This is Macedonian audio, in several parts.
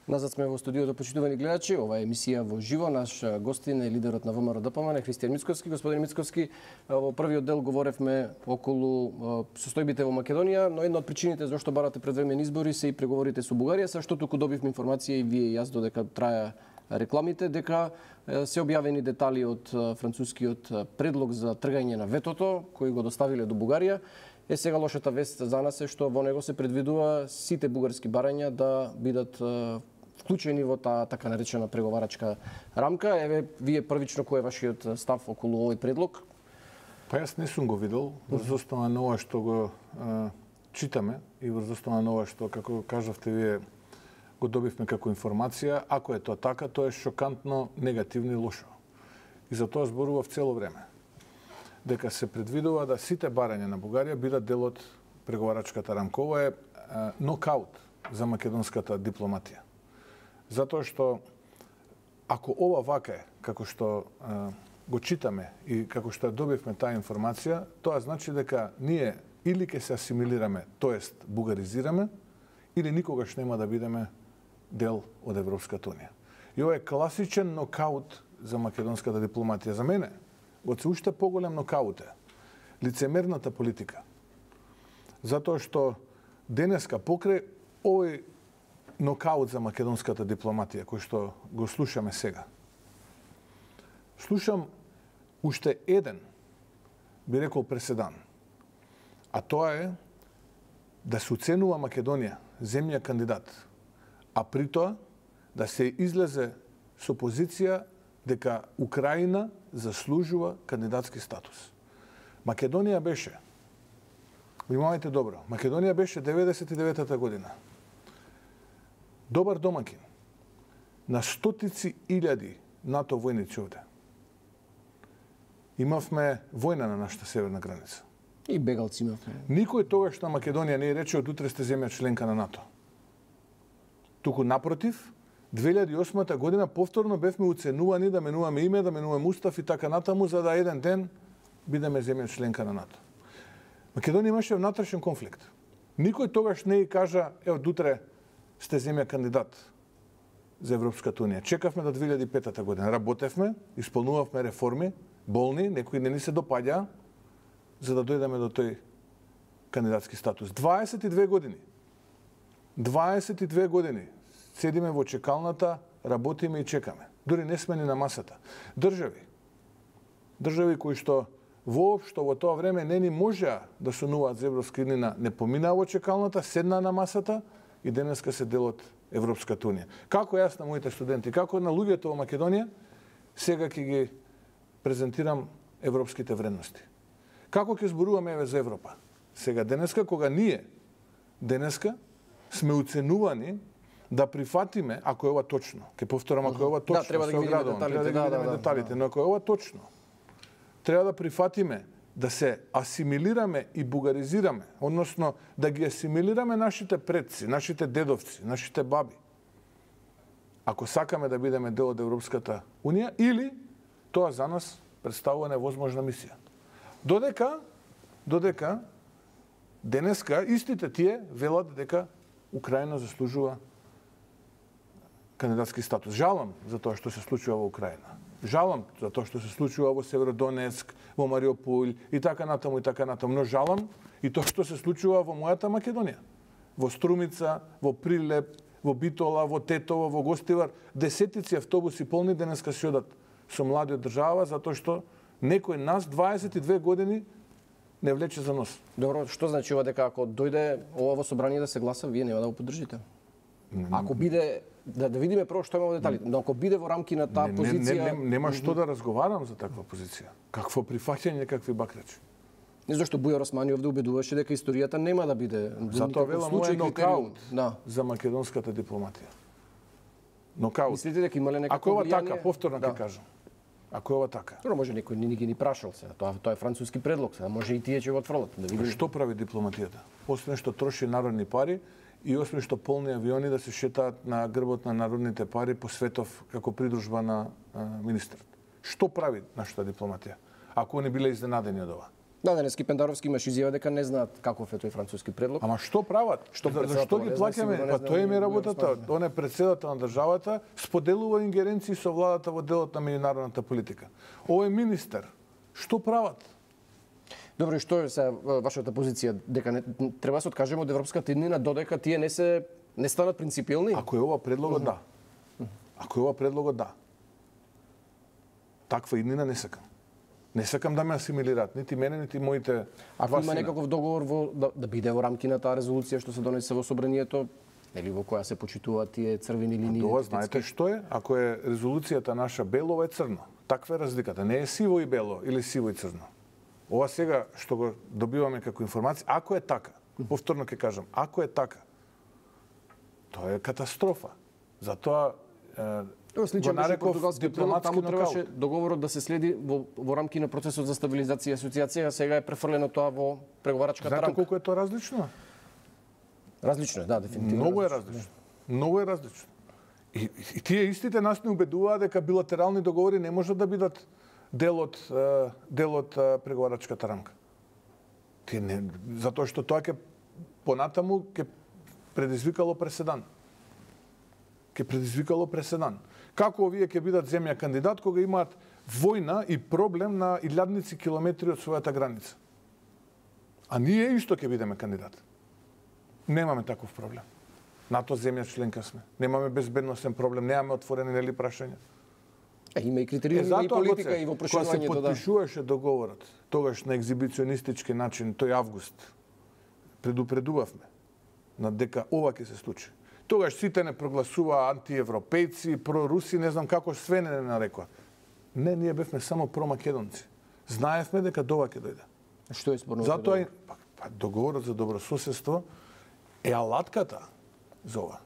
Назад сме во студиото, почитувани гледачи. Ова е емисија во живо. Наш гостин е лидерот на ВМРО-ДПМН, Христијан Мицковски. Господин Мицковски, во првиот дел говоревме околу состојбите во Македонија, но една од причините зашто барате предвремени избори се и преговорите со Бугарија, са што туку добивме информација и вие и јас додека траја рекламите, дека се објавени детали од францускиот предлог за тргање на ветото, кој го доставиле до Бугарија. Сега лошата вест за нас е што во него се предвидува сите бугарски барања да бидат вклучени во таа така наречена преговарачка рамка. Еве, вие првично кој е вашиот став околу овој предлог? Па јас не сум го видел, врз основа на ова што го читаме и врз основа на ова што, како кажавте вие, го добивме како информација. Ако е тоа така, тоа е шокантно, негативно и лошо. И за тоа зборував цело време. Дека се предвидува да сите барања на Бугарија бидат дел од преговарачката рамка. Ова е нокаут за македонската дипломатија. Затоа што ако ова вака е, како што го читаме и како што ја добивме таа информација, тоа значи дека ние или ќе се асимилираме, тоест бугаризираме, или никогаш нема да бидеме дел од Европската унија. И ова е класичен нокаут за македонската дипломатија. За мене, го се уште поголем нокаут е лицемерната политика. Затоа што денеска покрај овој нокаут за македонската дипломатија, кој што го слушаме сега, слушам уште еден, би рекол, преседан. А тоа е да се оценува Македонија, земја кандидат, а при тоа да се излезе со позиција дека Украина заслужува кандидатски статус. Македонија беше, внимавајте добро, Македонија беше 99-та година добар домакин на стотици илјади НАТО војници овде. Имавме војна на нашата северна граница. И бегалци имавме. Никој тогаш на Македонија не е рече од утре сте земја членка на НАТО. Туку напротив, 2008 година повторно бевме уценувани да менуваме име, да менуваме устав и така натаму, за да еден ден бидеме земја членка на НАТО. Македонија имаше внатрешен конфликт. Никој тогаш не и кажа, од утре сте земја кандидат за Европската унија. Чекавме до 2005 година. Работевме, исполнувавме реформи, болни, некои не ни се допаѓа, за да дојдеме до тој кандидатски статус. 22 години. 22 години седиме во чекалната, работиме и чекаме. Дори не сме ни на масата. Држави кои што воопшто во тоа време не ни можеа да сонуваат за Европска унија, не поминаа во чекалната, седнаа на масата и денеска се дел од Европската унија. Како јас на моите студенти, како на луѓето во Македонија, сега ќе ги презентирам европските вредности. Како ќе зборуваме еве за Европа? Сега денеска, кога ние денеска сме уценувани да прифатиме, ако е ова точно, ќе повторам, ако е ова точно, треба да ги видиме деталите, но ако е ова точно, треба да прифатиме да се асимилираме и бугаризираме, односно да ги асимилираме нашите предци, нашите дедовци, нашите баби. Ако сакаме да бидеме дел од Европската унија, или тоа за нас представува невозможна мисија. Додека денеска истите тие велат дека Украина заслужува кандидатски статус. Жалам за тоа што се случува во Украина. Жалам за тоа што се случува во Северодонецк, во Мариупол и така натаму, но жалам и тоа што се случува во мојата Македонија. Во Струмица, во Прилеп, во Битола, во Тетово, во Гостивар, десетици автобуси полни денеска се одат со млади од држава, затоа што некој нас 22 години не влече за нос. Добро, што значи ова дека ако дојде ова во собрание да се гласа, вие нема да го поддржите? Ако биде, да видиме прво што има во деталите, но ако биде во рамки на таа позиција... Нема што да разговарам за таква позиција. Какво прифаќање, какви бакрачи. Не зашто Бујар Османи овде убедуваше дека историјата нема да биде... Затоа велам мој нокаут за македонската дипломатија. Нокаут. Мислите дека имале некакво ако ова така, повторно ќе кажам. Ако е ова така. Добро, може некој не ги ни прашал се. Тоа е француски предлог, се. Може и тие ќе го отфрлат, да видиме. Што прави дипломатијата? Освен што троши народни пари и освен што полни авиони да се шетаат на грбот на народните пари по светов како придружба на министрот. Што прави нашата дипломатија? Ако не биле изненадени од ова. Да, денески Пендаровски имаш изјава дека не знаат каков е тој француски предлог. Ама што прават? Зашто ги плаќаме? Па тоа им е работата. Он е претседател на државата, споделува ингеренции со владата во делот на меѓународната политика. Овој министер, што прават? Добро, и што е сега вашата позиција? Дека не треба да се откажеме од европската иднина додека тие не станат принципиелни? Ако е ова предлогот, да. Ако е ова предлогот, да. Таква иднина не сакам. Не сакам да ме асимилираат, нити мене, нити моите Ако има некаков договор да биде во рамки на таа резолуција што се донесе во собранието, нели во која се почитуваат тие црвени линии? Тоа знаете што е? Ако е резолуцијата наша бело, ова е црно. Таква е разликата. Не е сиво и бело или сиво и црно. Ова сега што го добиваме како информација, ако е така, повторно ќе кажам, ако е така, тоа е катастрофа. Затоа сличен беше португалски предлог, таму требаше договорот да се следи во рамки на процесот за стабилизација и асоциација, а сега е префрлено тоа во преговарачката рамка. Знаете колку е тоа различно? Различно е, да, дефинитивно. Многу е различно. Многу е различно. И тие истите нас не убедуваат дека билатерални договори не можат да бидат дел од преговарачката рамка. Тие не, затоа што тоа ќе понатаму ќе предизвикало преседан. Како овие ќе бидат земја кандидат кога имаат војна и проблем на илјадници километри од својата граница? А ние исто ќе бидеме кандидат. Немаме таков проблем. НАТО земја членка сме. Немаме безбедносен проблем, немаме отворени нели прашања. Има и критериуми, има и политика и во проширувањето, кога се потпишуваше договорот, тогаш на екзибиционистички начин, тој август, предупредувавме на дека ова ќе се случи. Тогаш сите не прогласуваа антиевропејци, проруси, не знам како све не нарекоа. Не, ние бевме само промакедонци. Знаевме дека дова ќе дојде. Што е спорно? Затоа договорот за добрососедство е алатката за ова.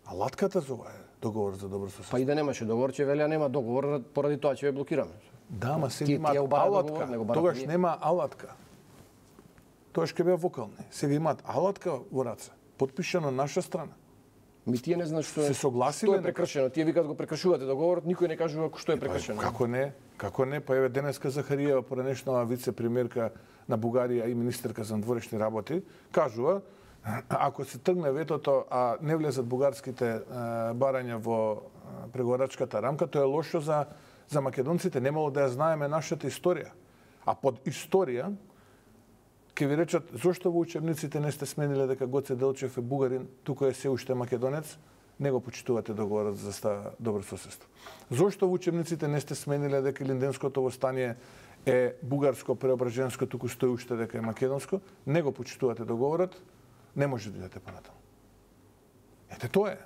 Алатката за ова е договор за добрососедство. Па и да немаше договор, че велја нема договор, поради тоа ќе ве блокираме. Да, ама сега имаат алатка. Тогаш нема алатка. Тогаш ќе беа вокални. Сега имаат алатка во раце, потпишано на наша страна. Ми тие не знаат што е. Се согласиле? Што е прекршено? Тие викаат го прекршувате договорот, никој не кажува што е прекршено. Како не? Како не? Па еве денеска Захариева, поранешнава вице-премиерка на Бугарија и министерка за надворешни работи, кажува ако се тргне ветото, а не влезат бугарските барања во преговарачката рамка, тоа е лошо за македонците. Немало да ја знаеме нашата историја. А под историја ќе ви речат зошто во учебниците не сте смениле дека Гоце Делчев е бугарин, тука е се уште македонец, не го почитувате договорот за добрососедство. Зошто во учебниците не сте смениле дека Линденското восстание е бугарско-преображенско, туку стои уште дека е македонско, не го почитувате договорот, не може да идете понатаму. Ете тоа е.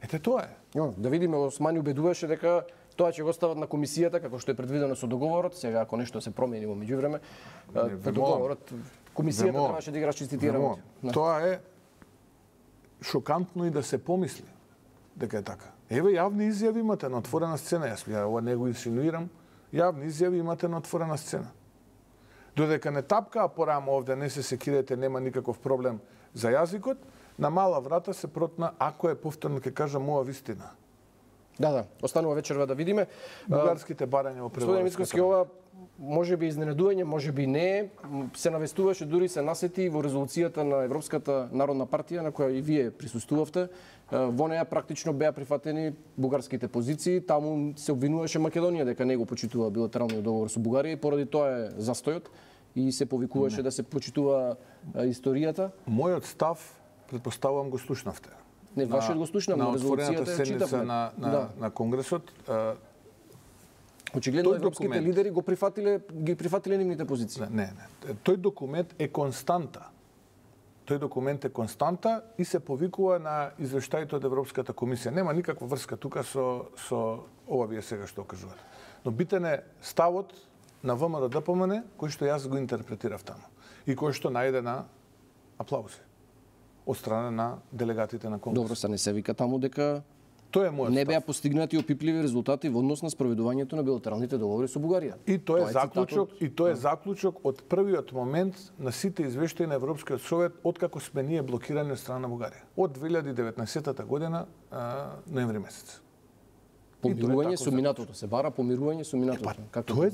Ете тоа е. Да видиме, Османи убедуваше дека тоа ќе го стават на комисијата, како што е предвидено со договорот. Сега, ако нешто се промени во меѓувреме, договорот, комисијата требаше да игра чистити работи. Тоа е шокантно и да се помисли дека е така. Еве, јавни изјави имате на отворена сцена. Јас ова не го инсинуирам. Јавни изјави имате на отворена сцена. Додека не тапкаа порано овде, не се секирете, нема никаков проблем за јазикот, на мала врата се протна, ако е повторно ќе кажам ова вистина. Да, останува вечерва да видиме. Бугарските барања во Господин Мицковски, ова може би изненадување, може би не, се навестуваше, дури се насети во резолуцијата на Европската народна партија, на која и вие присуствувавте. Во неја практично беа прифатени бугарските позиции, таму се обвинуваше Македонија дека не го почитува билатералниот договор со Бугарија и поради тоа е застојот и се повикуваше да се почитува историјата. Мојот став, предпоставувам, го слушнавте. Не, вашиот го слушнам, на резолуцијата ја читавме. На Конгресот. Очигледно европските лидери ги прифатиле нивните позиции. Не. Тој документ е константа. И се повикува на извештаите од Европската комисија. Нема никаква врска тука со ова вие сега што кажувате. Но битен е ставот на ВМРО ДПМН, кој што јас го интерпретирав таму и кој што најде на аплаузи од страна на делегатите на Конгрес. Добро, се не се вика таму дека Тоа е мојот не беа постигнати опипливи резултати во однос на спроведувањето на билатералните договори со Бугарија. И тоа е заклучок од првиот момент на сите извештаи на Европскиот совет откако сме ние блокирани од страна на Бугарија. Од 2019 година ноември месец. Помирување со минатото, се бара помирување со минатото. Тоа е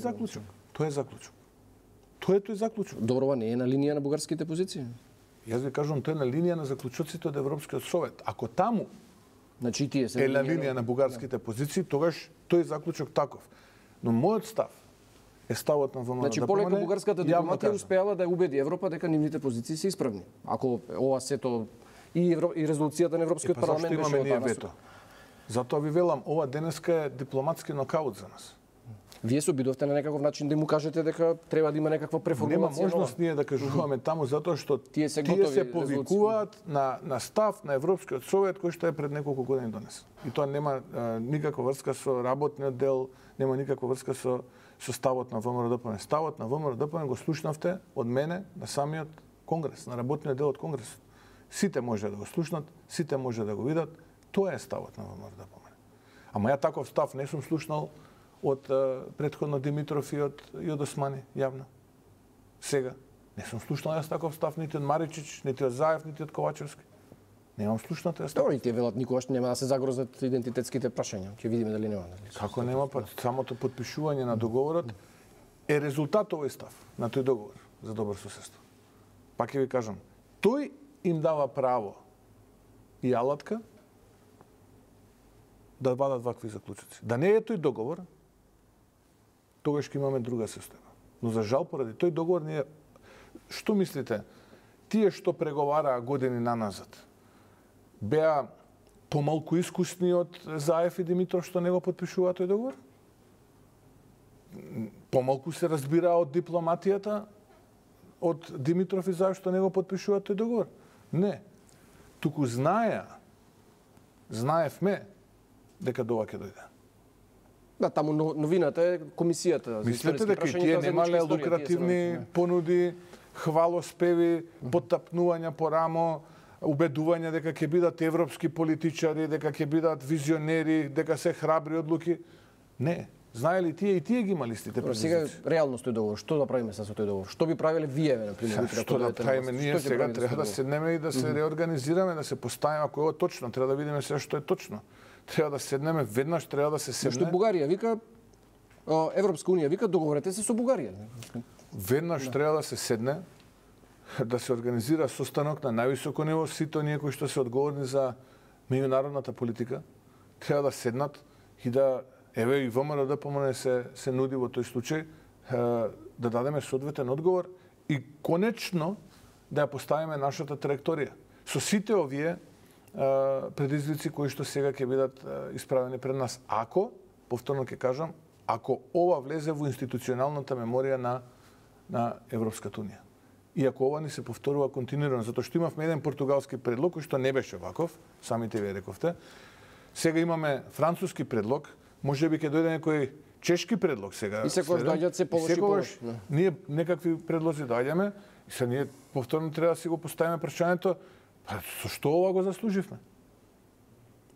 заклучок. Тоа е тој заклучок. Добро, ова не е на линија на бугарските позиции. Јас ви кажувам, тоа е на линија на заклучоците од Европскиот совет. Ако таму Значи тие се е на линија на бугарските позиции, тогаш тој заклучок таков. Но мојот став е ставот на ВМРО. Значи полека бугарската дипломатија успеала да убеди Европа дека нивните позиции се исправни. Ако ова сето и резолуцијата на Европскиот парламент беше од вето. Затоа ви велам, ова денеска е дипломатски нокаут за нас. Вие се обидовте на некаков начин да му кажете дека треба да има некаква преформулација. Нема можност ние да кажуваме таму затоа што тие се повикуваат на став на Европскиот совет кој што е пред неколку години донесен. И тоа нема никаква врска со работниот дел, нема никаква врска со ставот на ВМРО-ДПМН. Ставот на ВМРО-ДПМН го слушнавте од мене на самиот конгрес, на работниот дел од конгресот. Сите може да го слушнат, сите може да го видат. Тоа е ставот на ВМРО-ДПМН. Ама ја таков став не сум слушнал од претходно Димитров и од Османи, јавно. Сега, не сум слушнал јас таков став нити од Маричич, нити од Заев, нити од Ковачевски. Немам слушнато јас. Добро, и тие велат никогаш нема да се загрозат идентитетските прашања. Ќе видиме дали нема. Како нема, па самото потпишување на договорот е резултат овој став на тој договор за добро соседство. Пак ќе ви кажам, тој им дава право и алатка да вадат вакви заклучоци. Да не е тој договор, тогаш ќе имаме друга состојба. Но за жал, поради тој договор ние... Што мислите? Тие што преговараа години наназад, беа помалку искусни од Заев и Димитров што не го потпишуваа тој договор? Помалку се разбираа од дипломатијата од Димитров и Заев што не го потпишуваат тој договор? Не. Туку знаевме дека до ова ќе дојде. Да, таму новината е комисијата. Мислите дека тие немале лукративни понуди, хвалоспеви, поттапнувања по рамо, убедување дека ќе бидат европски политичари, дека ќе бидат визионери, дека се храбри одлуки? Не. Знаеле тие и тие ги имали стите предизвици. Сега реално тој договор, што да правиме со тој договор? Што би правиле вие, на пример? Што да правиме ние сега? Треба да седнеме и да се реорганизираме, да се поставиме ако е точно, треба да видиме се што е точно. Треба да седнеме веднаш, треба да се седне. Што Бугарија вика, Европска унија вика, договорете се со Бугарија. Веднаш треба да се седне, да се организира состанок на највисоко ниво, сите оние кои што се одговорни за меѓународната политика, треба да седнат и да еве и ВМРО-ДПМН се нуди во тој случај да дадеме соодветен одговор и конечно да ја поставиме нашата траекторија со сите овие предизвици кои што сега ќе бидат исправени пред нас. Ако, повторно ќе кажам, ако ова влезе во институционалната меморија на Европската унија. И ако ова ни се повторува континуирано, затоа што имавме еден португалски предлог кој што не беше ваков, самите вие рековте. Сега имаме француски предлог, можеби ќе дојде некој чешки предлог сега. И секогаш доаѓаат се полоши и полоши. Ние некакви предлози доаѓаме и се ние повторно треба да си го поставиме прашањето, со што ова го заслуживме?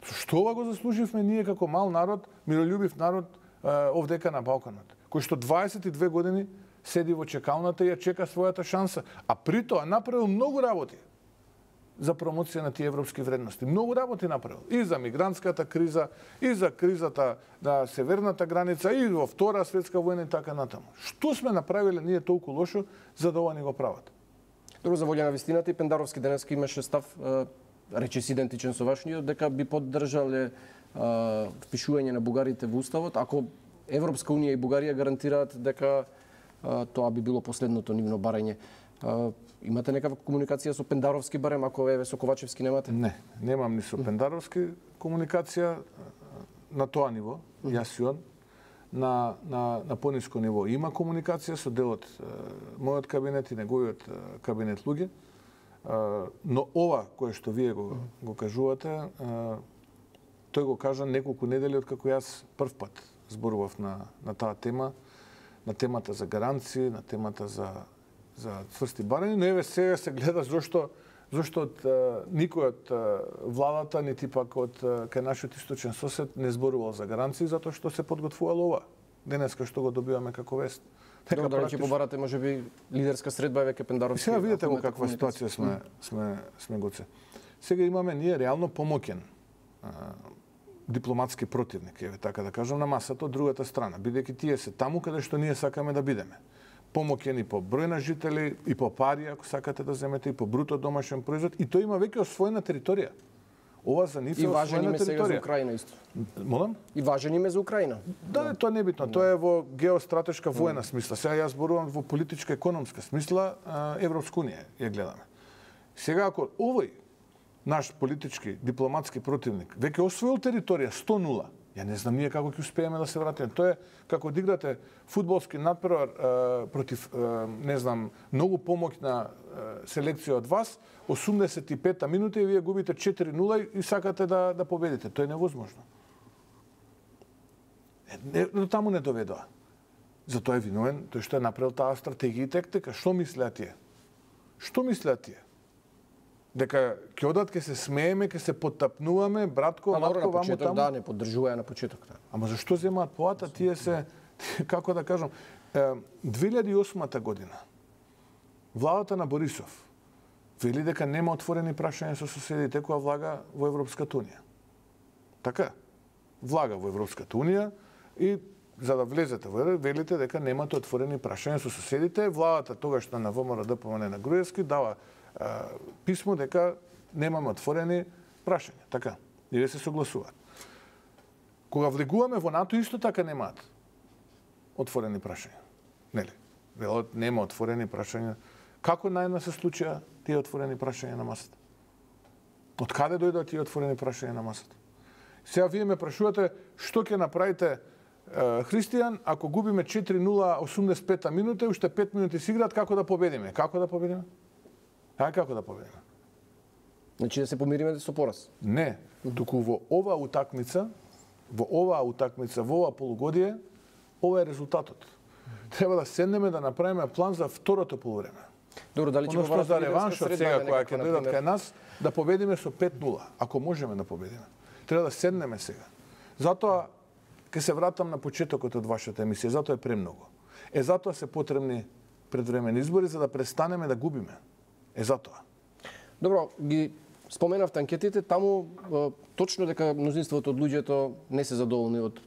Со што ова го заслуживме ние како мал народ, мирољубив народ овдека на Балканот, кој што 22 години седи во чекалната и ја чека својата шанса, а при тоа направил многу работи за промоција на тие европски вредности. Многу работи направил. И за мигрантската криза, и за кризата на северната граница, и во Втора светска војна и така натаму. Што сме направиле ние толку лошо за да ова ни го прават? Друго за волја на вистината и Пендаровски денеска имаше став речис идентичен со вашниот, дека би поддржале впишување на бугарите во уставот ако Европска унија и Бугарија гарантираат дека тоа би било последното нивно барање. Имате некаква комуникација со Пендаровски барем, ако еве со Ковачевски немате? Не, немам ни со Пендаровски комуникација на тоа ниво, јас и он. На пониско ниво има комуникација со делот мојот кабинет и неговиот кабинет луѓе, но ова кое што вие го кажувате, тој го кажа неколку недели откако јас прв пат зборував на таа тема, на темата за гаранции, на темата за цврсти барања, но еве сега се гледа зошто од никој од владата, нити пак од кај нашиот источен сосед не зборувал за гаранции, затоа што се подготвувало ова. Денеска што го добиваме како вест. Добро, да ќе побарате можеби лидерска средба еве ке Пендаровски. Сега видите во каква ситуација сме гоце. Сега имаме ние реално помоќен дипломатски противник, еве така да кажам, на масата од другата страна, бидејќи тие се таму каде што ние сакаме да бидеме. помоќен и по број на жители, и по пари, ако сакате да земете, и по бруто домашен производ, и тој има веќе освоена територија. Ова за нив е освоена територија. И важен име сега за Украина исто. Молам? И важен име за Украина. Да, тоа не е битно. Тоа е во геостратешка воена смисла. Сега јас зборувам во политичка економска смисла, Европска унија ја гледаме. Сега ако овој наш политички, дипломатски противник веќе освоил територија 100-0, ја не знам ние како ќе успееме да се вратиме. Тоа е како да играте фудбалски надпревар против, не знам, многу помоќна селекција од вас, 85-та минута и вие губите 4-0 и сакате да победите. Тоа е невозможно. До таму не доведоа. Затоа е виновен тој што е направил таа стратегија и тактика. Што мислеа тие? Што мислеа тие? Дека ќе одат, ќе се смееме, ќе се потапнуваме, братко, матко, ваму таму. Да, не поддржуваја на почеток. Да. Ама зашто земаат поата? Тие се, како да кажам, 2008 година, владата на Борисов вели дека нема отворени прашања со соседите кога влага во Европската унија. Така? Влага во Европската унија и за да влезете во велите дека немате отворени прашања со соседите. Владата тогашна на ВМРО ДПМН на Груевски дава писмо дека немаме отворени прашања. Така? И се согласуваат. Кога влегуваме во НАТО, исто така немаат отворени прашања. Нели? Велот нема отворени прашања. Како најна се случија тие отворени прашања на масата? Од каде дојдоа тие отворени прашања на масата? Сега вие ме прашувате што ќе направите Христијан ако губиме 4-0 85-та минута и уште 5 минути се играат, како да победиме? Како да победиме? Како да победиме? Значи да се помириме со пораз? Не, туку во оваа утакмица, во ова полугодие, ова е резултатот. Треба да седнеме да направиме план за второто полувреме. Добро, дали ќе го за реваншот сега која ќе дојдат кај нас, да победиме со 5-0, ако можеме да победиме. Треба да седнеме сега. Затоа ќе се вратам на почетокот од вашата емисија, затоа е премногу. Затоа се потребни предвремени избори за да престанеме да губиме. Затоа. Добро, ги споменавте анкетите, таму точно дека мнозинството од луѓето не се задоволни од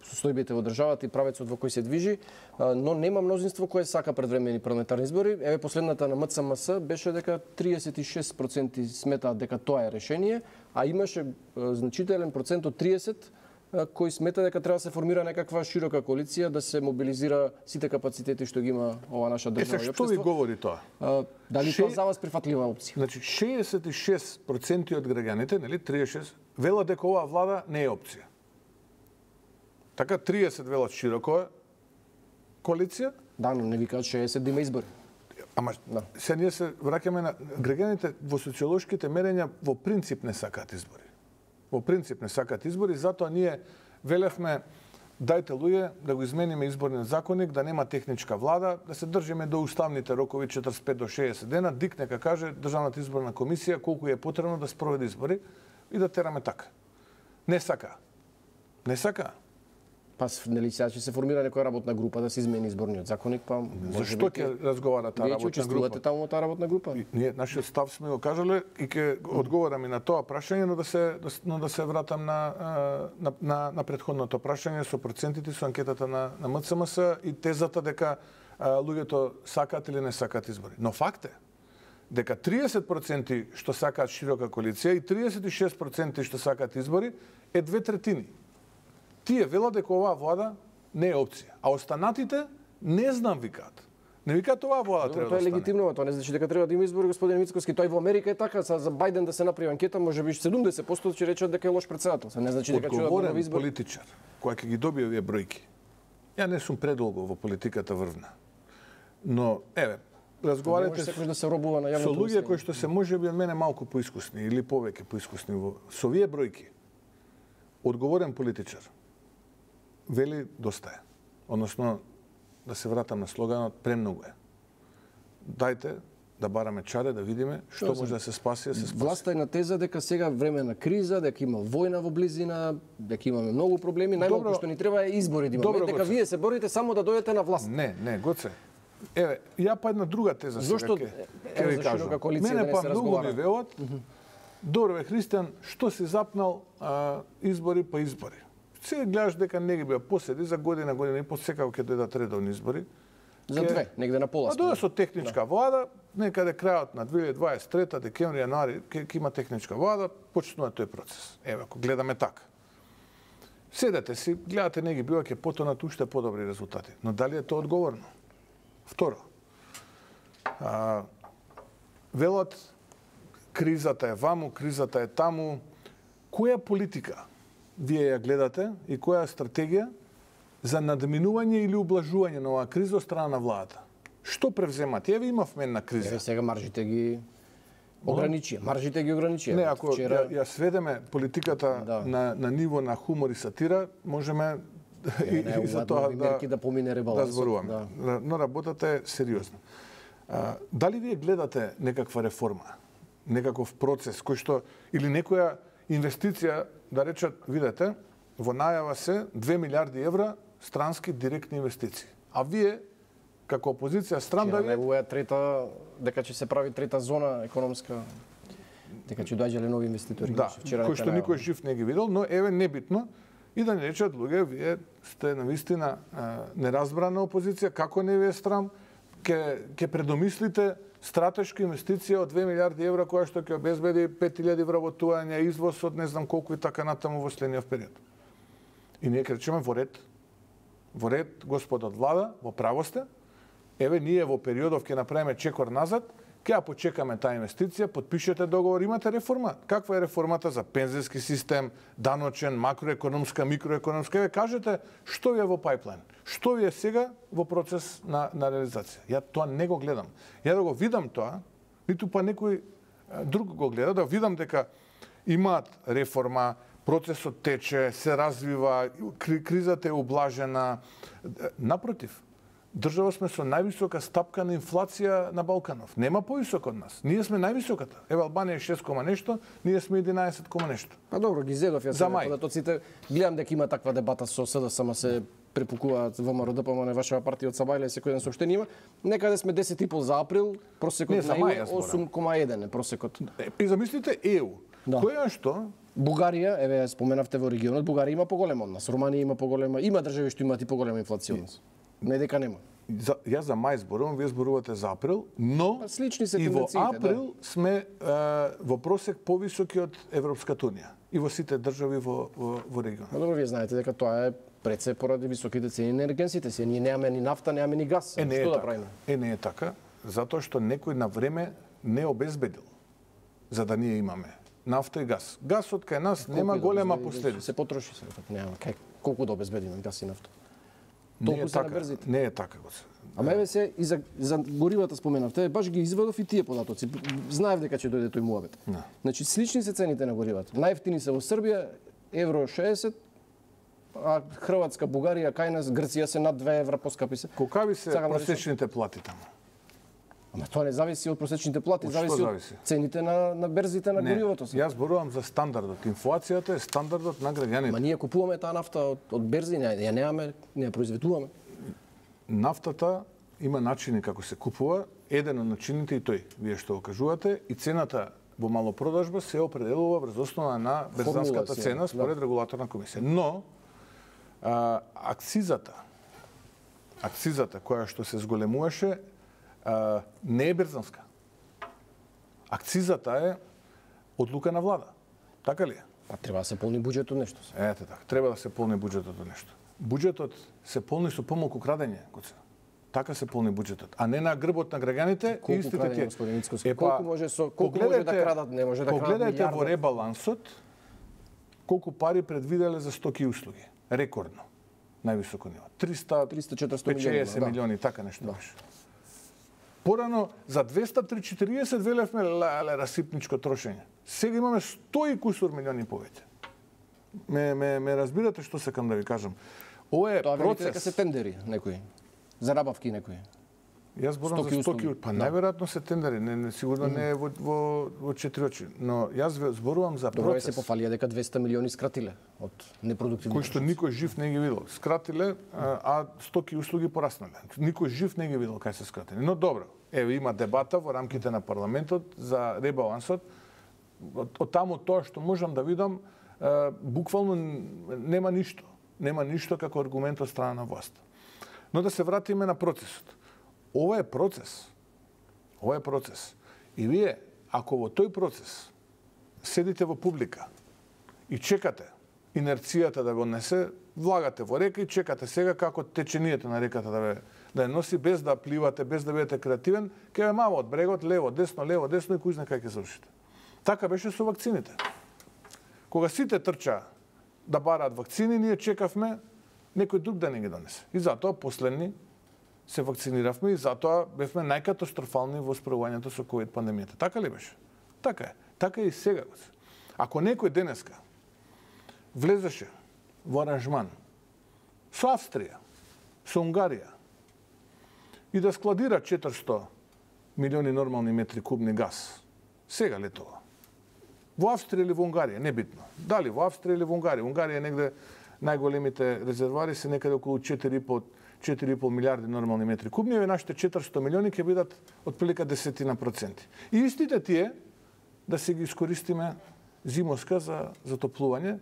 состојбите во државата и правецот во кој се движи, но нема мнозинство кое сака предвремени парламентарни избори. Еве последната на МЦМС беше дека 36% сметаат дека тоа е решение, а имаше значителен процент од 30 кој смета дека треба да се формира некаква широка коалиција, да се мобилизира сите капацитети што ги има ова наша држава и општество. Што ви говори тоа? Дали тоа за вас прифатлива опција? Значи 66% од граѓаните, нели 36, велат дека оваа влада не е опција. Така 30 велат широко коалиција. Да, но не викаат 60 да има избори. Ама се ние се враќаме на граѓаните во социолошките мерења во принцип не сакаат избори. Во принцип не сакаат избори, затоа ние велевме дајте луѓе да го измениме изборниот законник, да нема техничка влада, да се држиме до уставните рокови 45 до 60 дена, ДИК нека каже Државната изборна комисија колку е потребно да спроведе избори и да тераме така. Не сака. Не сака. Па нели сега ќе се формира некоја работна група да се измени изборниот законник, па зашто ќе разговара таа работна група? Вие учествувате таму во таа работна група? Ние нашиот став сме го кажале и ќе одговорам и на тоа прашање, но да се вратам на претходното прашање со процентите, со анкетата на МЦМС и тезата дека луѓето сакаат или не сакаат избори. Но факт е дека 30% што сакаат широка коалиција и 36% што сакаат избори е 2/3. Тие велат дека оваа влада не е опција, а останатите не знам викаат. Не викаат оваа влада треба да остане. Тоа е легитимно, тоа не значи дека треба да има избори, господин Мицкоски. Тоа и во Америка е така, за Бајден да се направи анкета, можеби 70% ќе речат дека е лош председател. Не значи дека ќе да избори. Политичар, кој ќе ги добие овие бројки. Ја не сум предолго во политиката врвна. Но еве, разговарате да се робува на јавното со луѓе кои што се можеби од мене малку поискусни или повеќе поискусни со овие бројки. Одговорен политичар вели доста е. Односно, да се вратам на слоганот, премногу е. Дајте да бараме чаре, да видиме што може да се спаси, да се спаси. Власта е на теза дека сега време на криза, дека има војна во близина, дека имаме многу проблеми, најмалку што ни треба е избори да имаме, дека вие се борите само да дојдете на власт. Не, Гоце. Еве, ја па една друга теза зашто ќе ви кажам. Мене па многу ми велат. Добро бе, Христијан, што си запнал избори по избори? Сега гледаш дека не ги беа поседи за година и по секако ќе дојдат редовни избори. За две, негде на пола. А дојде со техничка влада, некаде крајот на 2023 декември, јануари, ќе има техничка влада, почнува тој процес. Еве, ако гледаме така. Седете си, гледате неги бива ќе потонат уште подобри резултати. Но дали е тоа одговорно? Второ, велат кризата е ваму, кризата е таму. Која политика вие ја гледате и која стратегија за надминување или ублажување на оваа криза од страна на владата? Што превземате? Еве имавме една криза. Еве сега маржите ги ограничија. Маржите ги ограничија. Не, ако ја сведеме политиката на ниво на хумор и сатира, можеме и за тоа да помине ребалансот. Да зборуваме. Но работата е сериозна. Дали вие гледате некаква реформа, некаков процес кој што или некоја инвестиција, да речат, видете, во најава се 2 милиарди евра странски директни инвестиции. А вие како опозиција стран да ви трета, дека ќе се прави трета зона економска, дека ќе доаѓале нови инвеститори. Да, кој што никој жив не ги видел, но еве небитно и да не речат луѓе, вие сте навистина неразбрана опозиција, како не ви е страм, ќе предомислите стратешка инвестиција од 2 милиарди евра која што ќе обезбеди 5000 вработувања, извоз од не знам колку и така натаму во следниот период. И ние кречеме во ред, господа од влада, во право сте. Еве ние во периодов ќе направиме чекор назад, ќе ја почекаме таа инвестиција, потпишете договор, имате реформа. Каква е реформата за пензиски систем, даночен, макроекономска, микроекономска? Еве кажете што ви е во пайплайн, што ви е сега во процес на реализација. Ја тоа не го гледам. Ја да го видам тоа, ниту па некој друг го гледа, да видам дека имаат реформа, процесот тече, се развива, кризата е ублажена. Напротив, држава сме со највисока стапка на инфлација на Балканов. Нема повисока од нас. Ние сме највисоката. Еве Албанија е 6, нешто, ние сме 11, нешто. Па добро, ги зедов ја сега податоците. Гледам дека има таква дебата со СДСМ, се препукуваат ВМРО ДПМН, вашава партија од Сабајле, секој ден соопштение има. Некаде сме 10,5 за април, просекот на 8,1 е просекот. И замислите ЕУ. Која што? Бугарија, еве споменавте во регионот, Бугарија има поголема од нас, Руманија има поголема, има држави што имаат и поголема инфлација од нас. Не дека нема. Јас за мај зборувам, вие зборувате за април, но слични се и во април сме во просек повисоки од Европската унија и во сите држави во регионот. Добро, вие знаете дека тоа е пред се поради високите цени на енергенсите. Ние немаме ни нафта, немаме ни газ. Што да правиме? Не е така, затоа што некој на време не обезбедил за да ние имаме нафта и газ. Газот кај нас нема голема последица. Се потроши се, нема колку да обезбедиме газ и нафта. Не е така. Ама еве се и за горивата споменавте, баш ги извадов и тие податоци. Знаев дека ќе дојде тој муабет. Значи слични се цените на горивата. Најевтини се во Србија евро 60, а Хрватска, Бугарија, кај нас, Грција се над 2 евра поскапи се. Колкави се просечните плати таму? Ама тоа не зависи од просечните плати, зависи од цените на берзите на горивото. Јас зборувам за стандардот. Инфлацијата е стандардот на граѓаните. Ма ние купуваме таа нафта од берзи, ја немаме, не ја произведуваме. Нафтата има начини како се купува, еден од начините и тој, вие што го кажувате, и цената во малопродажба се определува врз основа на берзанската цена според регулаторна комисија. Но акцизата која што се зголемуваше не е берзанска. Акцизата е одлука на влада. Така ли е? Па треба да се полни буџетот нешто. Ете така, треба да се полни буџетот нешто. Буџетот се полни со помалку крадење, така се полни буџетот, а не на грбот на граѓаните и истите тие. Колку може да крадат, не може да крадат. Погледнете во ребалансот колку пари предвиделе за стоки и услуги. Рекордно. Највисоко ниво. 300-400 милиони, така нешто беше. Порано за 240 велевме расипничко трошење. Сега имаме 100 и кусур милиони повеќе. Ме разбирате што сакам да ви кажам. Ова е процес. Дека се тендери некои. За набавки некои. Јас зборам за стоки, па најверојатно се тендери, сигурно не е во четири очи, но јас зборувам за процес. Добро се пофалија дека 200 милиони скратиле од непродуктивни. Кои што никој жив не ги видел. Скратиле, а стоки и услуги пораснале. Никој жив не ги видел кај се скратени. Но добро, еве има дебата во рамките на парламентот за ребалансот. Од таму тоа што можам да видам, буквално нема ништо. Нема ништо како аргумент од страна на власт. Но да се вратиме на процесот. ова е процес. Ова е процес. И вие, ако во тој процес седите во публика и чекате инерцијата да го несе, влагате во река и чекате сега како течението на реката да ја носи без да пливате, без да бидете креативен, ќе ве мава од брегот, лево, десно и кој знае кај ќе завршите. Така беше со вакцините. Кога сите трча да бараат вакцини, ние чекавме некој друг да не ги донесе. И затоа последни се вакциниравме и затоа бевме најкатастрофални во справувањето со ковид пандемијата. Така ли беше? Така е. Така е и сега. Ако некој денеска влезеше во аранжман со Австрија, со Унгарија и да складира 400 милиони нормални метри кубни газ, сега летова. Во Австрија или во Унгарија, небитно. Дали во Австрија или во Унгарија. Унгарија негде најголемите резервари се некаде околу 4,5 милиарди нормални метри кубни, и нашите 400 милиони ќе бидат отприлика 10%. И истите тие да се ги искористиме зимоска за затоплување,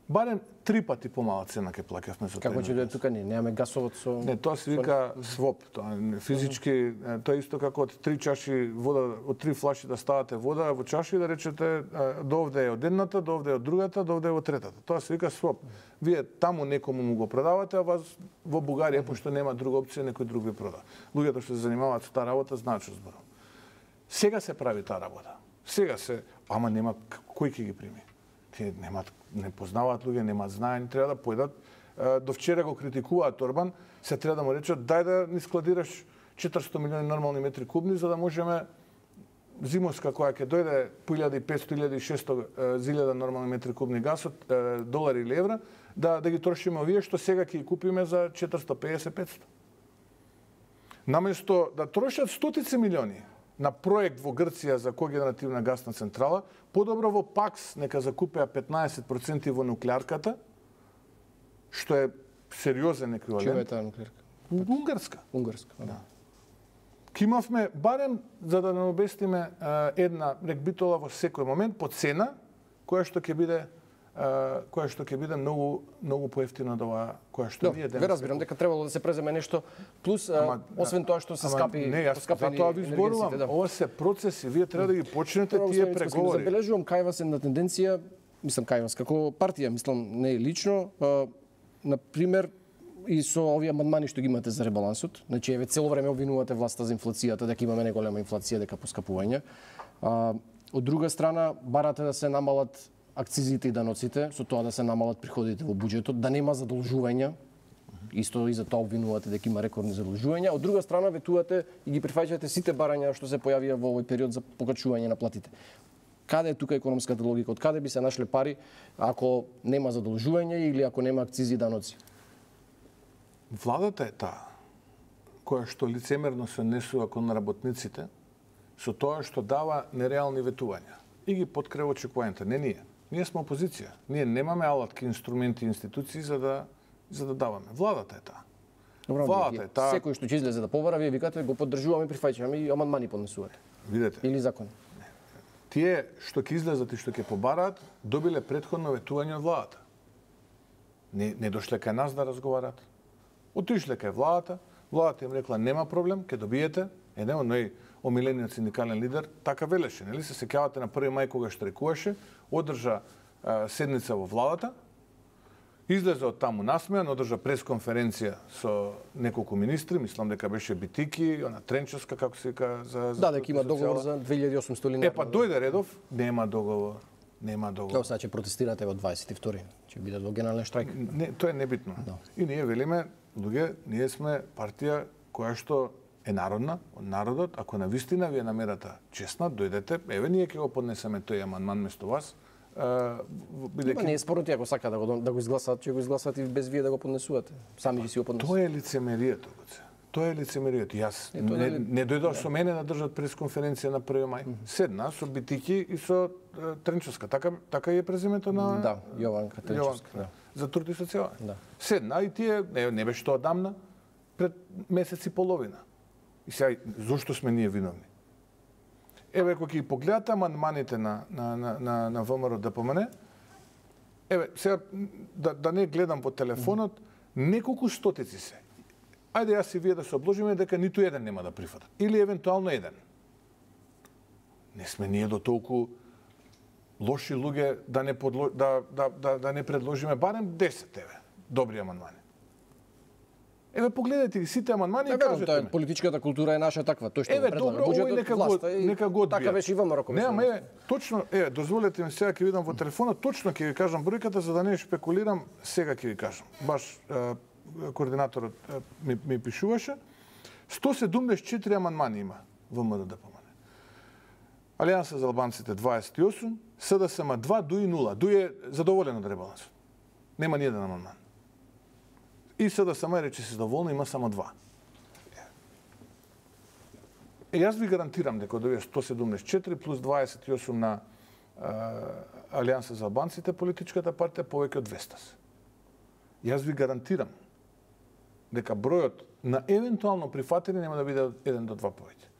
барем 3 пати помала цена ќе плаќавме за тоа. Како ќе дојде тука немаме гасовод со... Не, тоа се вика своп. Тоа физички, тоа исто како од 3 чаши вода, од 3 флаши да ставате вода во чаши и да речете до овде е од едната, до овде е од другата, до овде е од третата. Тоа се вика своп. Вие таму некому му го продавате, а вас во Бугарија, пошто нема друга опција, некој друг ви прода. Луѓето што се занимаваат со таа работа знаат што зборам. Сега се прави таа работа. Сега се, ама нема кој ќе ги прими. Тие не познаваат луѓе, немаат знаење, треба да појдат. До вчера го критикуваат Орбан, се треба да му речат дај да ни складираш 400 милиони нормални метри кубни за да можеме зимоска која ќе дојде по 1500-1600 зилјада нормални метри кубни газ од долари или евра, да ги трошиме овие што сега ќе ги купиме за 450-500. Наместо да трошат стотици милиони на проект во Грција за когенеративна гасна централа, подобро во ПАКС нека закупеа 15% во нуклеарката, што е сериозен еквивалент. Чија е таа нуклеарка? Унгарска. Унгарска, да. Ки имавме барем за да не обестиме една рекбитола во секој момент по цена која што ќе биде многу поевтина од ова која што ние денес. Ве разбирам дека требало да се преземе нешто плюс освен тоа што се скапи. Не, јас затоа ви зборувам, ова се процеси, вие треба да ги почнете тие преговори. Забележувам кај вас една тенденција, мислам кај вас како партија, мислам не лично, на пример и со овие амандмани што ги имате за ребалансот, значи еве цело време обвинувате власта за инфлацијата, дека имаме неголема инфлација, дека поскапување. Од друга страна барате да се намалат акцизите и даноците, со тоа да се намалат приходите во буџетот, да нема задолжувања. Исто и за тоа обвинувате дека има рекордни задолжувања. Од друга страна ветувате и ги прифаќате сите барања што се појавија во овој период за покачување на платите. Каде е тука економската логика? Од каде би се нашле пари ако нема задолжување или ако нема акцизи и даноци? Владата е таа која што лицемерно се однесува кон работниците со тоа што дава нереални ветувања и ги подкрива очекувањата. Не ние. Ние сме опозиција. Ние немаме алатки, инструменти и институции за да даваме. Владата е таа. Владата е таа. Секој што ќе излезе да побара, вие викате го поддржуваме, прифаќаме и амандмани поднесувате. Видете. Или закони. Тие што ќе излезат и што ќе побараат, добиле претходно ветување од владата. Не дошле кај нас да разговараат. Отишле кај владата, владата им рекла нема проблем, ќе добиете. Еден од омилениот синдикален лидер така велеше, нели се сеќавате на 1 мај кога штрекуваше, одржа седница во владата, излезе од таму насмејан, одржа пресконференција со неколку министри, мислам дека беше Битики, она Тренчевска како се вика за да, дека има договор за 2800 линија. Па дојде редов, нема договор. Тоа сега ќе протестирате во 22-ри, ќе бидат во генерален штрајк. Не, тоа е небитно. Да. И ние велиме, луѓе, ние сме партија која што е народна, од народот, ако навистина ви е намерата честна, дојдете, еве ние ќе го поднесеме тој амандман место вас. Бидејќи не е спорно ако сака да го изгласат, ќе го изгласат и без вие да го поднесувате. Сами ќе си го поднесете. Тоа е лицемерието, Тоа е лицемерието. Јас не дојдов со мене да држат пресконференција на 1 мај. Седна со Битики и со Тренчевска. Така е презимето на да, Јованка Тренчевска, да. За труд и социјала. Да. Седна и тие не беше тоа дамна пред месец и половина. И сега зошто сме ние виновни? Еве кога ги погледате амандманите на ВМРО ДПМН, еве сега да не гледам по телефонот, неколку стотици се. ајде јас и вие да се обложиме дека ниту еден нема да прифатат. Или евентуално еден. Не сме ние до толку лоши луѓе да не предложиме барем 10 добри амандмани. Еве погледнете ги сите амандмани и кажете ми. Политичката култура е наша таква, тој што предлага добро, буџетот, нека го одбија. Така беше и ВМРО. Не, ама точно, дозволете ми сега ќе видам во телефонот, точно ќе ви кажам бројката за да не шпекулирам, сега ќе ви кажам. Баш координаторот ми пишуваше. 174 амандмани има ВМРО ДПМН. Алијанса за албанците 28, СДСМ 2, ДУИ 0. ДУИ е задоволен од ребалансот. Нема ни еден амандман. И СДСМ рече се задоволно, има само 2. Јас ви гарантирам дека од овие 174 плюс 28 на Алијанса за албанците, политичката партија повеќе од 200 се. Јас ви гарантирам дека бројот на евентуално прифатени нема да биде 1 до 2 повеќе.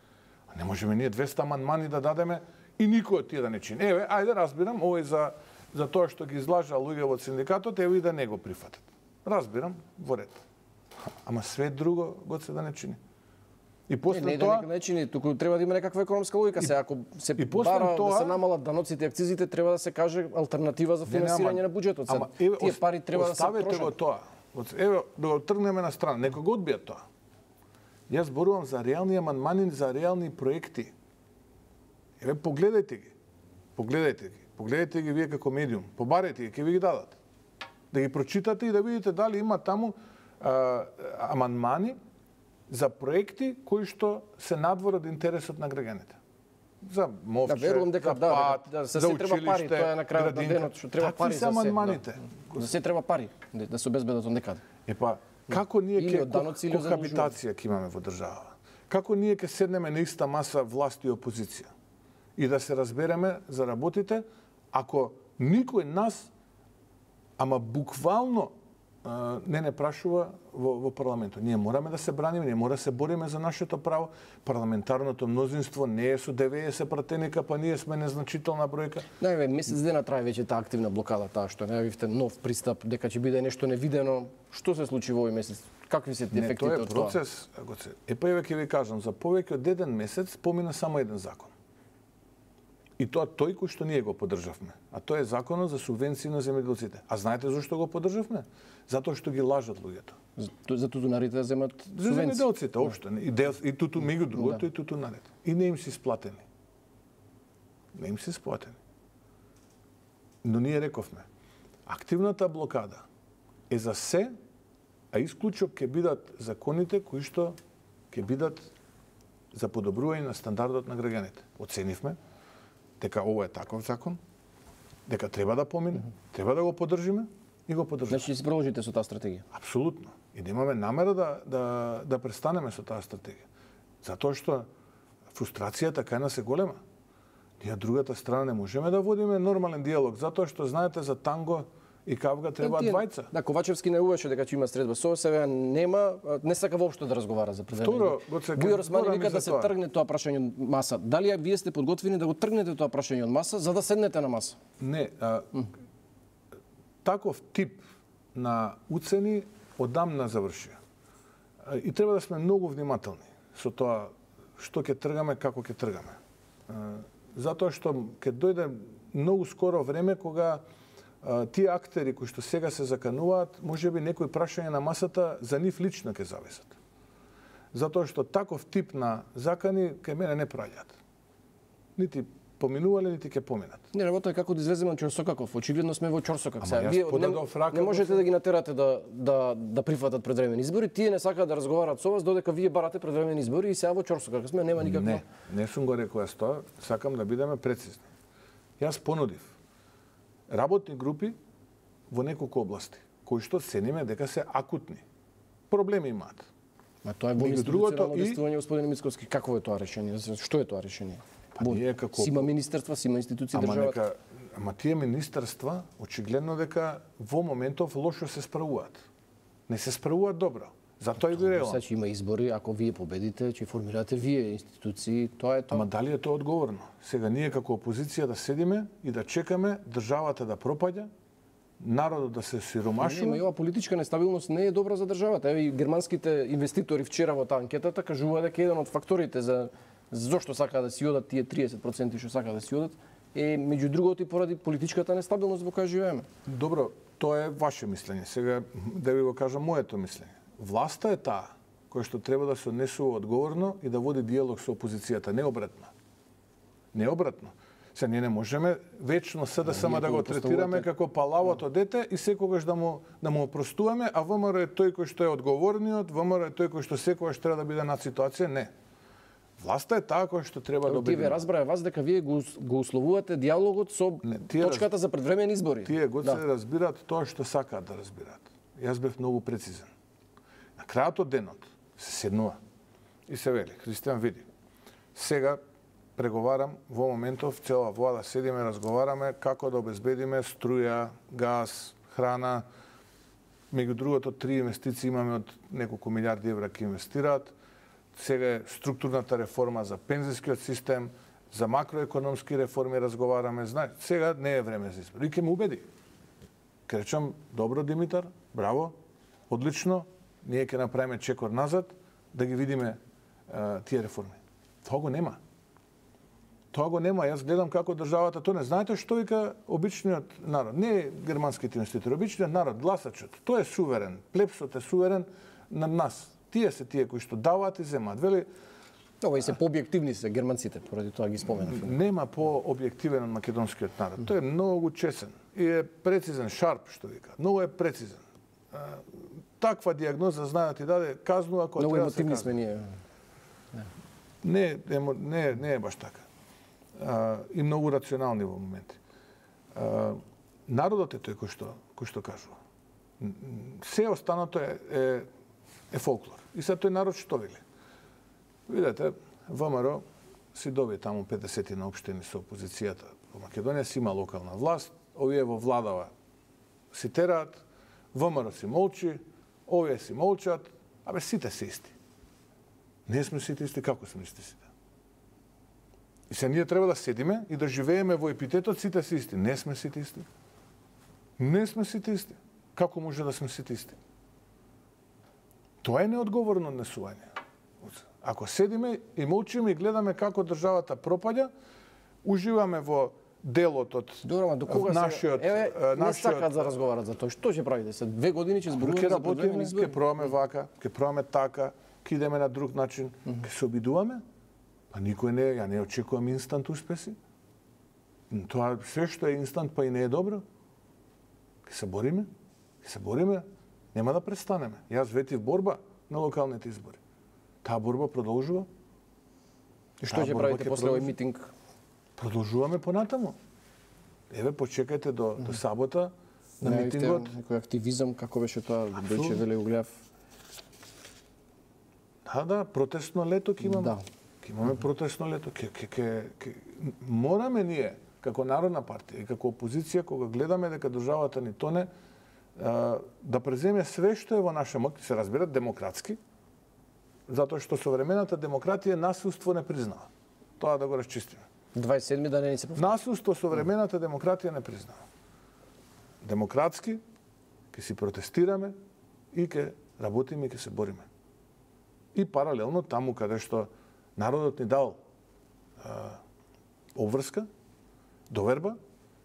А не можеме ние 200 амандмани да дадеме и никој од тие да не чини. Еве, ајде разбирам, овој за тоа што ги излажа луѓе од синдикатот, еве и да не го прифатат. Разбирам, во ред. Ама све друго го се да не чини. И после тоа не чини, туку треба да има некаква економска логика. Се ако се бара да се намалат даноците и акцизите, треба да се каже алтернатива за финансирање на буџетот. Тие пари треба да се трошат. Оставете го тоа. Еве, да го тргнеме на страна. Некој го одбија тоа. Јас зборувам за реални амандмани, за реални проекти. Еве, погледајте ги. Погледајте ги вие како медиум. Побарете ги, ќе ви ги дадат. Да ги прочитате и да видите дали има таму амандмани за проекти кои што се надвор од интересот на граѓаните. За мовче, за пат, за училиште, тоа е на крајот на денот, што треба пари за амандманите. За се треба пари да се обезбедат од некаде. Епа, како ние ќе кохабитација ќе имаме во држава? Како ние ќе седнеме на иста маса власт и опозиција? И да се разбереме за работите, ако никој нас, ама буквално не прашува во парламентот. Ние мораме да се браниме, ние мора да се бориме за нашето право. Парламентарното мнозинство не е со 90 пратеника, па ние сме незначителна бројка. Не, месец дена трае веќе таа активна блокада, таа што најавивте нов пристап, дека ќе биде нешто невидено. Што се случи во овој месец? Какви се ефектите од тоа? Тоа е процес, Епа еве ќе ви кажам, за повеќе од еден месец помина само еден закон. И тоа тој кој што ние го поддржавме. А тоа е законот за субвенции на земјоделците. А знаете зошто го поддржавме? Затоа што ги лажат луѓето. За тутунарите да земат субвенции. За земјоделците општо. И туту меѓу другото и тутунарите. И не им се исплатени. Но ние рековме, активната блокада е за се, а исклучок ќе бидат законите кои што ќе бидат за подобрување на стандардот на граѓаните. Оценивме дека ово е таков закон, дека треба да помине, треба да го поддржиме и го поддржиме. Значи ќе се продолжите со таа стратегија? Апсолутно. И да имаме намера да престанеме со таа стратегија. Затоа што фрустрацијата кај нас е голема. Ние другата страна не можеме да водиме нормален диалог, затоа што знаете за танго и кавга требаат двајца. Да, Ковачевски најуваше дека ќе има средба со себе, нема, не сака воопшто да разговара за предвидено. Бујар Османи вика да се тргне тоа прашање од маса. Дали вие сте подготвени да го тргнете тоа прашање од маса за да седнете на маса? Не, таков тип на уцени одамна завршија. И треба да сме многу внимателни со тоа што ќе тргаме, како ќе тргаме. Затоа што ќе дојде многу скоро време кога тие актери кои што сега се закануваат, можеби некои прашања на масата за нив лично ќе зависат. Затоа што таков тип на закани кај мене не праќаат. Нити поминувале, нити ќе поминат. Не, работа е како да излеземе од Чорсокаков. Очигледно сме во Чорсокак. Вие не можете да ги натерате да прифатат предвремени избори. Тие не сакаат да разговараат со вас додека вие барате предвремени избори и сега во Чорсокак сме, нема никакво. Не сум го рекол јас тоа, сакам да бидеме прецизни. Јас понудив работни групи во неколку области, кои што цениме дека се акутни. Проблеми имаат. Ма тоа е во институционално действување, господин Мицковски. Какво е тоа решение? Што е тоа решение? Си има министерства, си има институции државата. Ама тие министерства, очигледно дека во моментов лошо се справуваат. Не се справуваат добро. Затоа и ви рекам. Сега има избори, ако вие победите, ќе формирате вие институции, тоа е тоа. Ама дали е тоа одговорно? Сега ние како опозиција да седиме и да чекаме државата да пропаѓа, народот да се сиромашува. Ова политичка нестабилност не е добра за државата. Еве и германските инвеститори вчера во таа анкетата кажуваат дека еден од факторите за зошто сакаат да си одат тие 30% што сакаат да си одат е меѓу другото и поради политичката нестабилност во која живееме. Добро, тоа е ваше мислење. Сега да ви го кажам моето мислење. Власта е таа која што треба да се однесува одговорно и да води диалог со опозицијата, не обратно. Не обратно. Се ние не можеме вечно СДСМ да го третираме како палавото дете и секогаш да му опростуваме, а ВМРО е тој кој што е одговорниот, ВМРО е тој кој што секогаш треба да биде над ситуација. Не. Власта е таа која што треба да Тие ве разбраа вас дека вие го условувате диалогот со точката за предвремени избори. Тие го се разбираат тоа што сакаат да разбираат. Јас бев многу прецизен. На крајот од денот се седнува и се вели, Христијан, види, сега преговарам, во моментов цела влада седиме, разговараме како да обезбедиме струја, газ, храна. Меѓу другото, 3 инвестиции имаме од неколку милиарди евра ке инвестираат. Сега е структурната реформа за пензискиот систем, за макроекономски реформи разговараме. Сега не е време за избор. И ке ме убеди. Ке речам, добро, Димитар, браво, одлично, ние ке направиме чекор назад, да ги видиме тие реформи. Тоа го нема. Тоа го нема. Јас гледам како државата тоа не. Знаете што вика обичниот народ? Не германските инвеститори, обичниот народ, гласачот. Тој е суверен. Плепсот е суверен на нас. Тие се тие кои што даваат и земаат. Вели, ова и се пообјективни се германците, поради тоа ги споменав. Нема пообјективен од македонскиот народ. Тој е многу чесен и е прецизен, шарп што вика. Многу е прецизен. Таква диагноза знае да ти даде казнува кога треба да се казнува. Сме ние. Не е баш така. И многу рационални во моменти. Народот е тој кој што кажува. Се останато е фолклор. И сега тој народ што вели? Видете, ВМРО си доби таму 50 на општини со опозицијата во Македонија, си има локална власт, овие во владава си тераат, ВМРО си молчи, овие си молчат, абе сите се исти. Не сме сите исти, како сме сите? И се ние треба да седиме и да живееме во епитетот сите се исти. Не сме сите исти. Не сме сите исти. Како може да сме сите исти? Тоа е неодговорно однесување. Ако седиме и молчиме и гледаме како државата пропаѓа, уживаме во делот од нашиот... Не сакаат да разговарат за тоа. Што ќе правите? Се 2 години ќе зборуваме за предвремени избори? Ќе пробаме вака, ќе пробаме така, ќе идеме на друг начин, ќе се обидуваме. Па никој не, ја не очекувам инстант успеси. Тоа се што е инстант, па и не е добро. Ќе се бориме, нема да престанеме. Јас ветив борба на локалните избори. Таа борба продолжува. И што ќе правите после овој митинг? Продолжуваме понатаму. Еве, почекајте до сабота на митингот. Некој активизам, како беше тоа, Дојче Веле го гледав. Да, протестно лето ќе имаме. Ќе имаме протестно лето. Мораме ние, како Народна партија и како опозиција, кога гледаме дека државата ни тоне, да преземе све што е во наша моќ, се разбира демократски, затоа што современата демократија насилство не признава. Тоа да го расчистиме. 27 да не се повтори. Насилство современата демократија не признава. Демократски ќе си протестираме и ќе работиме и ќе се бориме. И паралелно таму каде што народот ни дал обврска, доверба,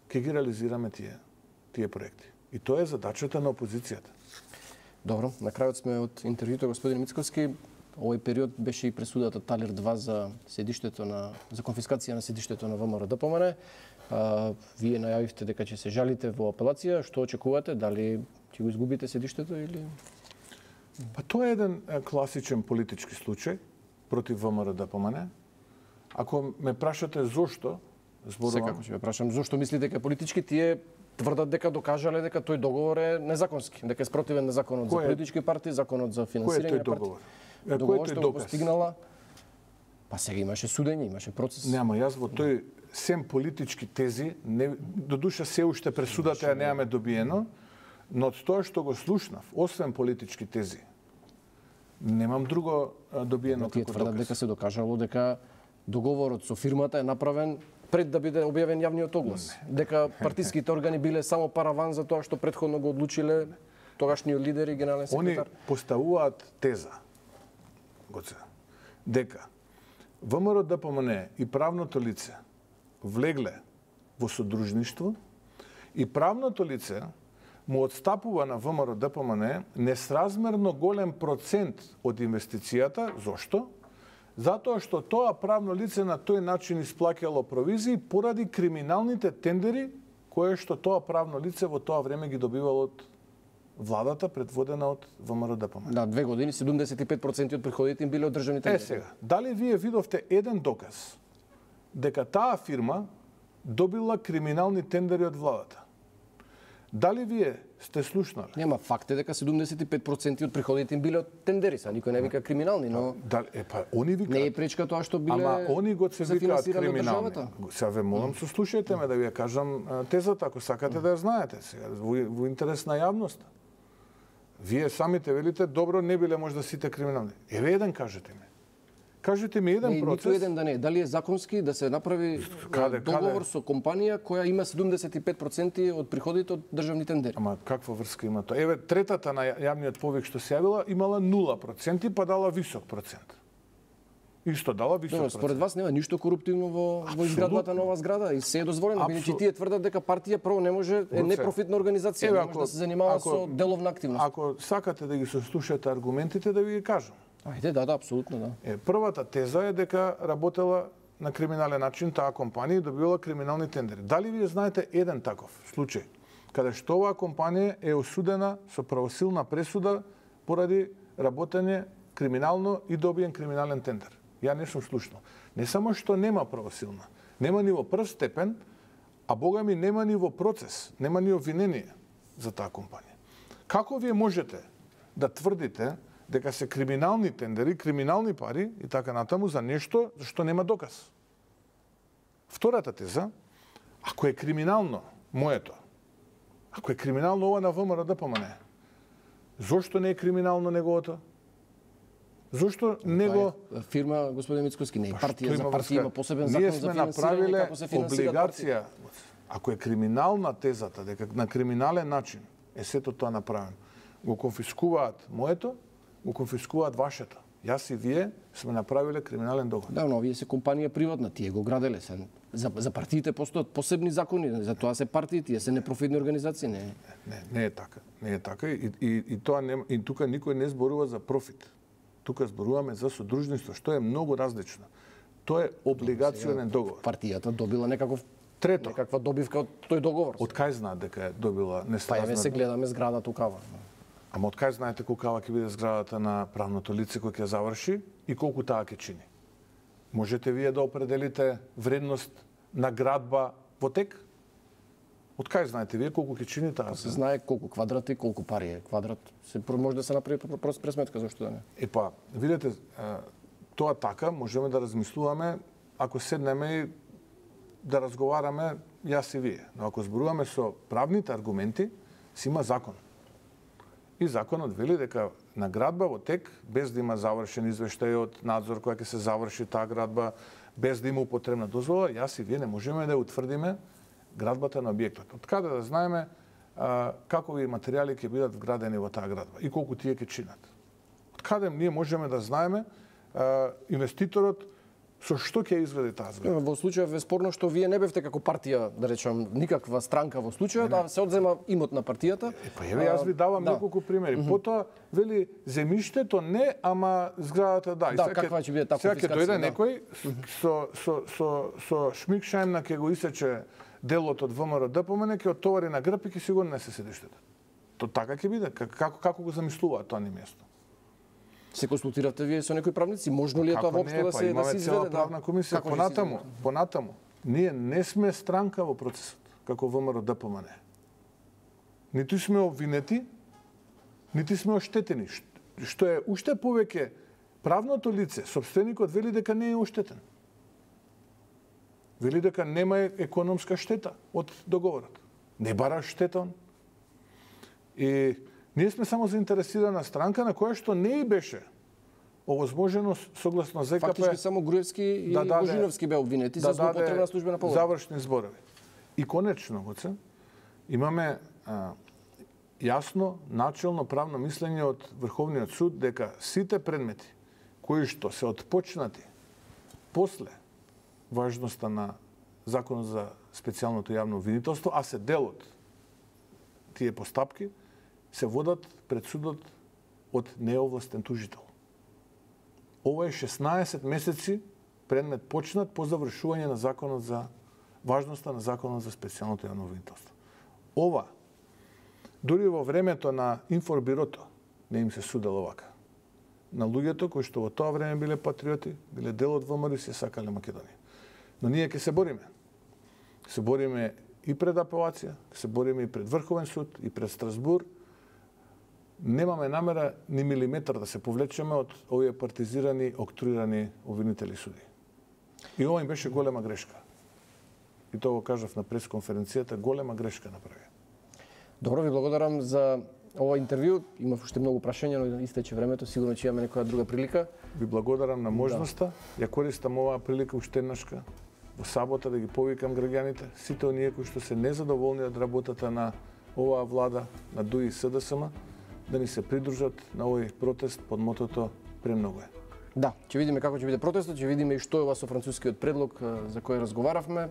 ќе ги реализираме тие проекти. И тоа е задачата на опозицијата. Добро, на крајот сме од интервјуто господин Мицковски. Овој период беше и пресудата Талер 2 за конфискација на седиштето на ВМРО-ДПМН. Вие најавивте дека ќе се жалите во апелација. Што очекувате? Дали ќе го изгубите седиштето или? Па тоа е еден класичен политички случај против ВМРО-ДПМН. Ако ме прашате зошто, зборувам... Секако ќе ве прашам, зошто мислите дека политички тие тврдат дека докажале дека тој договор е незаконски, дека е спротивен на законот за политички партии, законот за финансирање на партии. Договор што го постигнала, па сега имаше судење, имаше процес. Нема, јас во тој сем политички тези, додуша се уште пресудата ја немаме добиено, но од тоа што го слушнав, освен политички тези, немам друго добиено како доказ. Тие тврдат дека се докажало дека договорот со фирмата е направен пред да биде објавен јавниот оглас. Дека партиските органи биле само параван за тоа што претходно го одлучиле тогашниот лидер и генерален секретар. Они поставуваат теза, Гоце, дека ВМРО ДПМН и правното лице влегле во содружништво и правното лице му отстапува на ВМРО ДПМН несразмерно голем процент од инвестицијата. Зошто? Затоа што тоа правно лице на тој начин исплаќало провизии поради криминалните тендери кои што тоа правно лице во тоа време ги добивало од владата предводена од ВМРО ДПМН. Да, 2 години 75% од приходите им биле од државни тендери. Сега, дали вие видовте еден доказ дека таа фирма добила криминални тендери од владата? Дали вие сте слушнале? Нема, факт е дека 75% од приходите им биле од тендери, са никој не вика криминални, но они викаат. Не е пречка тоа што биле. Ама они го се викаат криминални. Сега ве молам, сослушајте ме да ви ја кажам тезата, ако сакате да ја знаете сега во интерес на јавноста. Вие самите велите добро не биле можда сите криминални. Еве еден кажете ми. Кажете ми еден процес. Ниту еден да не. Дали е законски да се направи договор со компанија која има 75% од приходите од државни тендери? Ама каква врска има тоа? Еве, третата на јавниот повик што се јавила имала 0% па дала висок процент. Исто дала висок процент. Според вас нема ништо коруптивно во изградбата на оваа зграда и се е дозволено, бидејќи тие тврдат дека партија прво не може е непрофитна организација, не може да се занимава со деловна активност. Ако сакате да ги сослушате аргументите, да ви ги кажам. Ајде, да, апсолутно, да. Првата теза е дека работела на криминален начин таа компанија и добивала криминални тендери. Дали вие знаете еден таков случај каде што оваа компанија е осудена со правосилна пресуда поради работење криминално и добиен криминален тендер? Ја не сум слушнал. Не само што нема правосилна, нема ни во прв степен, а бога ми нема ни во процес, нема ни обвинение за таа компанија. Како вие можете да тврдите дека се криминални тендери, криминални пари и така натаму за нешто што нема доказ? Втората теза, ако е криминално моето, ако е криминално ова на ВМРО ДПМН, зошто не е криминално неговото? Зошто него фирма господин Мицковски не е партија, за партија има посебен закон за финансирање како се финансираат облигација. Ако е криминална тезата дека на криминален начин е сето тоа направено, го конфискуваат моето, го конфискуваат вашето. Јас и вие сме направиле криминален договор. Да, но овие се компанија приватна, тие го граделе се. За партиите постојат посебни закони, за тоа се партии, тие се непрофитни организации, не. Не е така. Не е така и тоа нема, и тука никој не зборува за профит. Тука зборуваме за содружништво, што е многу различно. Тоа е облигационен договор. Партијата добила некаква добивка од тој договор. Од кај знаат дека е добила несразмерно? Па еве се гледаме зграда тукава. Ама од кај знаете колкава ќе биде зградата на правното лице кој ќе заврши и колку таа ќе чини? Можете вие да определите вредност на градба во тек? Од кај знаете вие колку ќе чини таа? Се знае колку квадрати, колку пари е квадрат. Може да се направи прост пресметка, зашто да не? Епа, видете, тоа така можеме да размислуваме ако седнеме и да разговараме јас и вие. Но ако зборуваме со правните аргументи, си има закон. И законот вели дека на градба во тек, без да има завршен извештај од надзор која ќе се заврши таа градба, без да има употребна дозвола, јас и вие не можеме да утврдиме градбата на објектот. Од каде да знаеме какови материјали ќе бидат вградени во таа градба и колку тие ќе чинат? Од каде ние можеме да знаеме инвеститорот со што ќе изгради таа зграда? Во случајот е спорно што вие не бевте како партија, да речам, никаква странка во случајот, а се одзема имот на партијата. Па еве јас ви давам неколку примери. Потоа вели земјиштето не, ама зградата да. Да, каква ќе биде таа конфискација? Сега ќе дојде некој со шмикшајмна ќе го исече делот од ВМРО ДПМН, ќе оттовари на грб и ќе си го несе седиштето. То така ќе биде. Како го замислуваат тоа ни место? Се консултиравте вие со некои правници? Можно ли е тоа воопшто да се изведе? Цела правна комисија. Понатаму, ние не сме странка во процесот, како ВМРО ДПМН. Ниту сме обвинети, нити сме оштетени. Што е уште повеќе, правното лице, сопственикот вели дека не е оштетен. Вели дека нема економска штета од договорот. Не бара штета он. И ние сме само заинтересирана странка на која што не и беше овозможено согласно ЗКП Фактички само Груевски и Божиновски беа обвинети за злоупотреба на службена полога. Завршни зборови. И конечно, Гоце, имаме јасно, начелно правно мислење од Врховниот суд дека сите предмети кои што се отпочнати после важноста на Законот за специјалното јавно обвинителство, а се дел од тие постапки, се водат пред судот од неовластен тужител. Ова е 16 месеци предмет почнат по завршување на Законот за важноста на Законот за специјалното јавно обвинителство. Ова, дури во времето на Информбирото, не им се судело вака. На луѓето кои што во тоа време биле патриоти, биле дел од ВМРО и се сакале Македонија. Но ние ќе се бориме. Се бориме и пред апелација, се бориме и пред Врховен суд, и пред Страсбур. Немаме намера ни милиметар да се повлечеме од овие партизирани, октруирани обвинители суди. И ова им беше голема грешка. И тоа го кажав на пресконференцијата, голема грешка направи. Добро, ви благодарам за ова интервју. Имав уште многу прашања, но истече времето, сигурно ќе имаме некоја друга прилика. Ви благодарам на можноста. Ја користам оваа прилика уште еднашка во сабота да ги повикам граѓаните, сите оние кои што се незадоволни од работата на оваа влада, на ДУИ и СДСМ, да ни се придружат на овој протест под мотото "Премногу е". Да, ќе видиме како ќе биде протестот, ќе видиме и што е ова со францускиот предлог за кој разговаравме.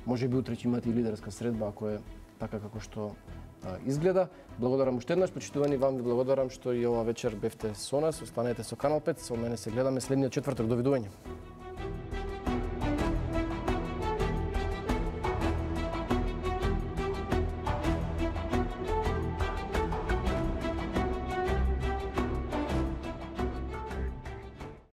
Може би утре ќе имате и лидерска средба, ако е така како што изгледа. Благодарам уште еднаш, почитувани, вам ви благодарам што и ова вечер бевте со нас. Останете со Канал 5, со мене се гледаме следниот четврток. Довидување.